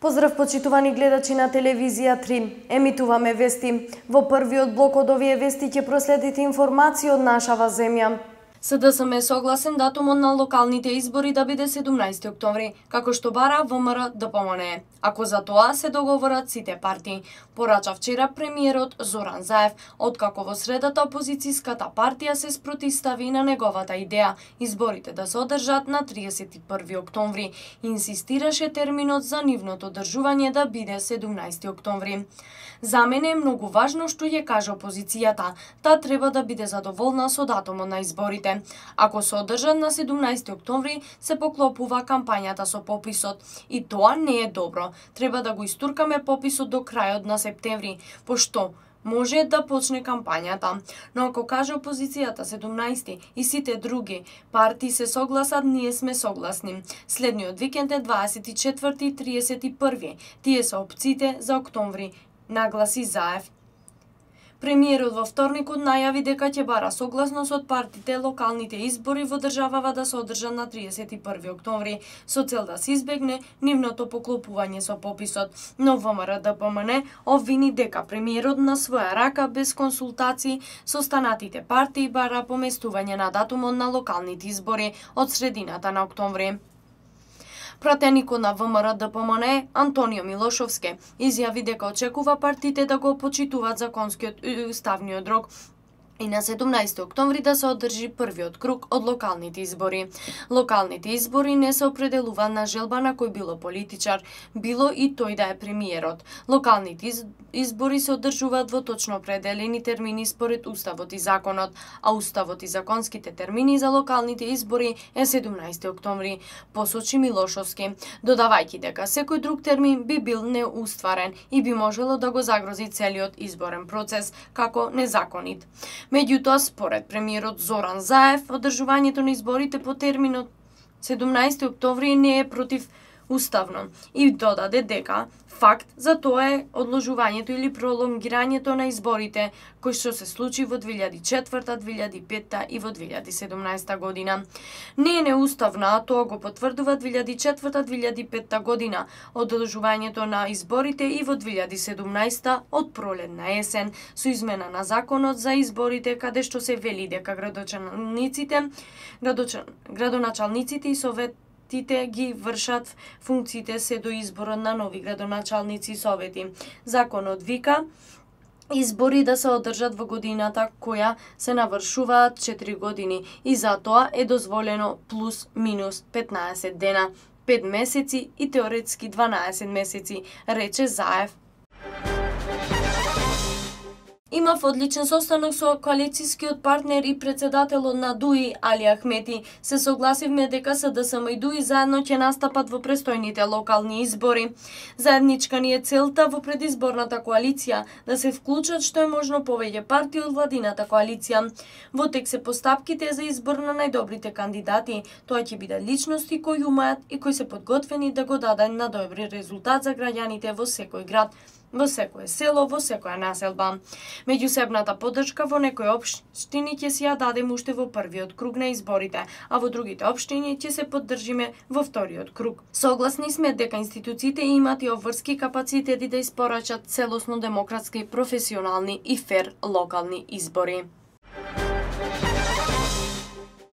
Поздрав почитувани гледачи на телевизија 3. Емитуваме вести. Во првиот блок од овие вести ќе проследите информации од нашава земја. СДСМ е согласен датумот на локалните избори да биде 17 октомври, како што бара ВМРО ДПМН, ако за тоа се договорат сите партии, порача вчера премиерот Зоран Заев, откако во средата опозицијската партија се спротивстави на неговата идеја изборите да се одржат на 31 октомври и инсистираше терминот за нивното одржување да биде 17 октомври. За мене е многу важно што ќе каже опозицијата, таа треба да биде задоволна со датумот на изборите. Ако се одржат на 17 октомври, се поклопува кампањата со пописот и тоа не е добро. Треба да го истуркаме пописот до крајот на септември, пошто може да почне кампањата. Но ако каже опозицијата 17 и сите други партии се согласат, ние сме согласни. Следниот викенд е 24 и 31. Тие се опциите за октомври, нагласи Заев. Премиерот во вторникот најави дека ќе бара согласност од партиите локалните избори во државава да се одржат на 31 октомври, со цел да се избегне нивното поклопување со пописот. Но ВМРО ДПМН обвини дека премиерот на своја рака без консултации со останатите партии бара поместување на датумот на локалните избори од средината на октомври. Пратеникот на ВМРО ДПМН Антонио Милошовски изјави дека очекува партиите да го почитуваат законскиот и уставниот рок и на 17 октомври да се одржи првиот круг од локалните избори. Локалните избори не се определуваат на желба на кој било политичар, било и тој да е премиерот. Локалните избори се одржуваат во точно определени термини според Уставот и законот, а Уставот и законските термини за локалните избори е 17 октомври, посочи Милошовски, додавајќи дека секој друг термин би бил неустварен и би можело да го загрози целиот изборен процес како незаконит. Меѓутоа, според премиерот Зоран Заев, одржувањето на изборите по терминот 17 октомври не е противуставно и додаде дека факт за тоа е одложувањето или пролонгирањето на изборите, кој што се случи во 2004, 2005 и во 2017 година. Не е неуставно, а тоа го потврдува 2004-2005 година, одложувањето на изборите и во 2017 од пролет на есен, со измена на законот за изборите, каде што се вели дека градоначалниците и советите ги вршат функциите се до изборот на нови градоначалници и совети. Законот вика избори да се одржат во годината која се навршуваат 4 години и за тоа е дозволено плюс минус 15 дена, 5 месеци и теоретски 12 месеци, рече Заев. Имав одличен состанок со коалицијскиот партнер и председателот на ДУИ Али Ахмети. Се согласивме дека СДСМ и ДУИ заедно ќе настапат во престојните локални избори. Заедничка ни е целта во предизборната коалиција да се вклучат што е можно повеќе партии од владината коалиција. Во тек се постапките за избор на најдобрите кандидати. Тоа ќе биде личности кои умеат и кои се подготвени да го дадат на добри резултат за граѓаните во секој град, во секое село, во секоја населба. Меѓусебната поддршка во некои општини ќе си ја дадем уште во првиот круг на изборите, а во другите општини ќе се поддржиме во вториот круг. Согласни сме дека институциите имаат и обврски капацитети да испорачат целосно демократски, професионални и фер локални избори.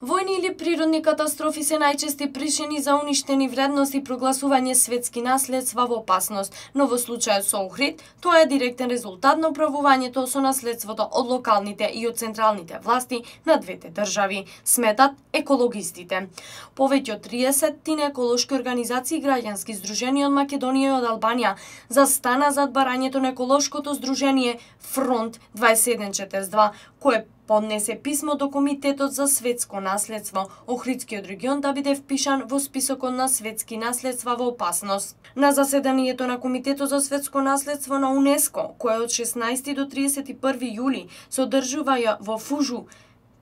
Војни или природни катастрофи се најчести причини за уништени вредности и прогласување светски наследства во опасност, но во случајот со Охрид, тоа е директен резултат на управувањето со наследството од локалните и од централните власти на двете држави, сметат екологистите. Повеќе од 30 еколошки организации и граѓански здруженија од Македонија и од Албанија застана зад барањето на еколошкото здружение Фронт 2142, кое поднесе писмо до Комитетот за светско наследство, Охридскиот регион да биде впишан во списокот на светски наследства во опасност. На заседанието на Комитетот за светско наследство на УНЕСКО, кое од 16 до 31 јули се одржува во Фужу,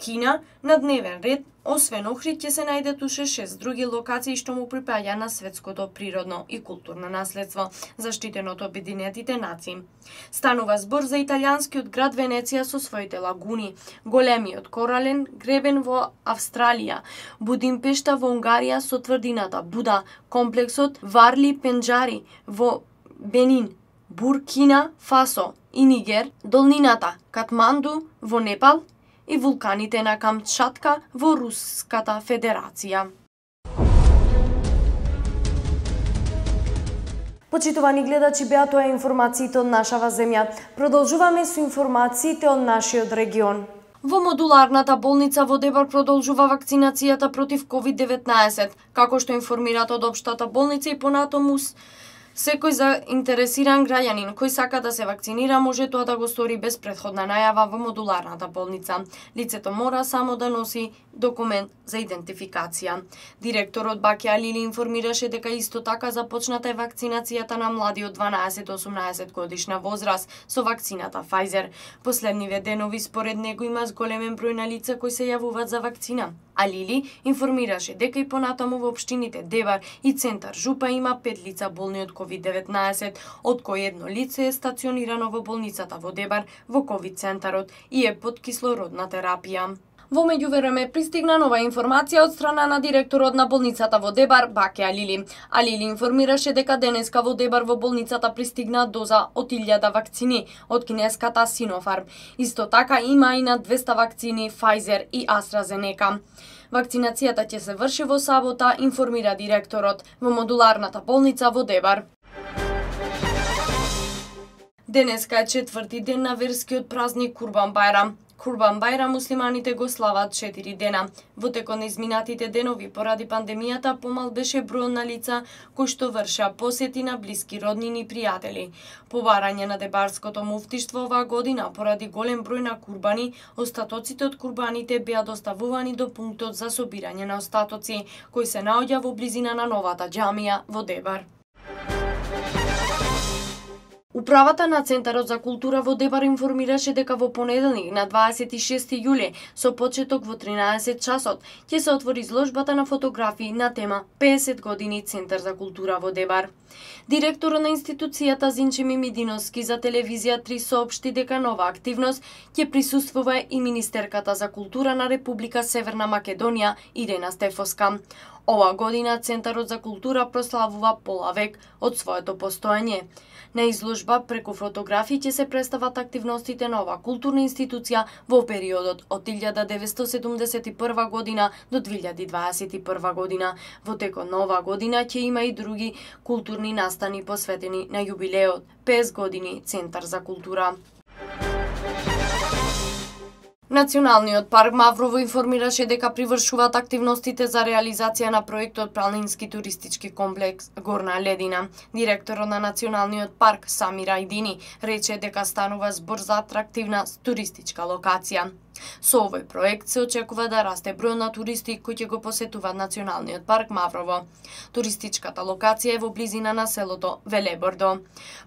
Кина на дневен ред, освен Охрид, ќе се најдат уште 6 други локации што му припаѓа на светското природно и културно наследство, заштитено од Обединетите нации. Станува збор за италијанскиот град Венеција со своите лагуни, големиот корален гребен во Австралија, Будимпешта во Унгарија со тврдината Буда, комплексот Варли Пенџари во Бенин, Буркина Фасо и Нигер, долнината Катманду во Непал и вулканите на Камчатка во Руската Федерација. Почитувани гледачи, беа тоа информациите од нашава земја. Продолжуваме со информациите од нашиот регион. Во модуларната болница во Дебар продолжува вакцинацијата против COVID-19, како што информираат од општата болница и понатаму секој заинтересиран граѓанин кој сака да се вакцинира може тоа да го стори без претходна најава во модуларната болница. Лицето мора само да носи документ за идентификација. Директорот Баке Алили информираше дека исто така започната е вакцинацијата на млади од 12-18 годишна возраст со вакцината Pfizer. Последниве денови според него има зголемен број на лица кои се јавуваат за вакцина. Алили информираше дека и понатаму во општините Дебар и Центар Жупа има 5 лица болни од COVID-19, од кои едно лице е стационирано во болницата во Дебар во COVID центарот и е под кислородна терапија. Во меѓувреме пристигна нова информација од страна на директорот на болницата во Дебар, Баке Алили. Алили информираше дека денеска во Дебар во болницата пристигна доза од 1000 вакцини од кинеската Sinopharm. Исто така има и на 200 вакцини Pfizer и AstraZeneca. Вакцинацијата ќе се врши во сабота, информира директорот во модуларната болница во Дебар. Денеска е 4ти ден на верскиот празник Курбан Байрам. Курбан Байрам муслиманите го слават 4 дена. Во текот на изминатите денови поради пандемијата помал беше број на лица кои што врша посети на блиски роднини и пријатели. По барање на Дебарското муфтиштво оваа година поради голем број на курбани, остатоците од курбаните беа доставувани до пунктот за собирање на остатоци, кој се наоѓа во близина на новата џамија во Дебар. Управата на Центарот за култура во Дебар информираше дека во понеделник на 26 јули со почеток во 13 часот ќе се отвори изложбата на фотографии на тема 50 години Центар за култура во Дебар. Директорот на институцијата Зинче Мимидиновски за телевизија 3 соопшти дека нова активност ќе присуствува и министерката за култура на Република Северна Македонија Ирена Стефоска. Ова година Центарот за култура прославува пола век од своето постоење. На изложба преку фотографии ќе се представат активностите на оваа културна институција во периодот од 1971 година до 2021 година. Во текот на оваа година ќе има и други културни настани посветени на јубилеот 50 години Центар за култура. Националниот парк Маврово информираше дека привршуваат активностите за реализација на проектот Планински туристички комплекс Горна Ледина. Директорот на Националниот парк Самир Ајдини рече дека станува збор за атрактивна туристичка локација. Со овој проект се очекува да расте број на туристи кои ќе го посетуваат Националниот парк Маврово. Туристичката локација е во близина на селото Велебордо.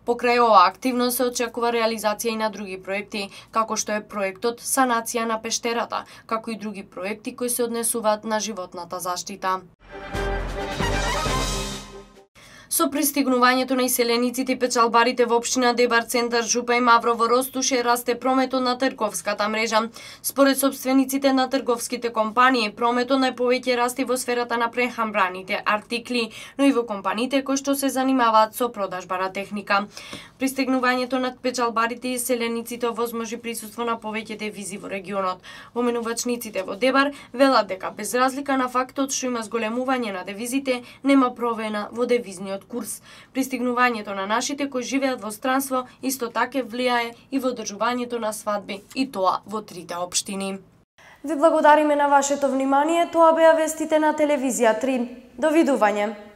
Покрај оваа активност се очекува реализација и на други проекти, како што е проектот Санација на пештерата, како и други проекти кои се однесуваат на животната заштита. Со пристигнувањето на иселениците и печалбарите во општина Дебар, Центар Жупа и Маврово ростуше расте прометот на трговската мрежа. Според собствениците на трговските компании, прометот најповеќе расте во сферата на прехрамбените артикли, но и во компаниите кои што се занимаваат со продажба на техника. Пристигнувањето на печалбарите и иселениците овозможи присуство на повеќе девизи во регионот. Поменувачниците во Дебар велат дека без разлика на фактот што има зголемување на девизите, нема промена во девизниот курс. Пристигнувањето на нашите кои живеат во странство исто така влијае и во одржувањето на свадби, и тоа во трите општини. Ви благодариме на вашето внимание. Тоа беа вестите на телевизија 3. Довидување.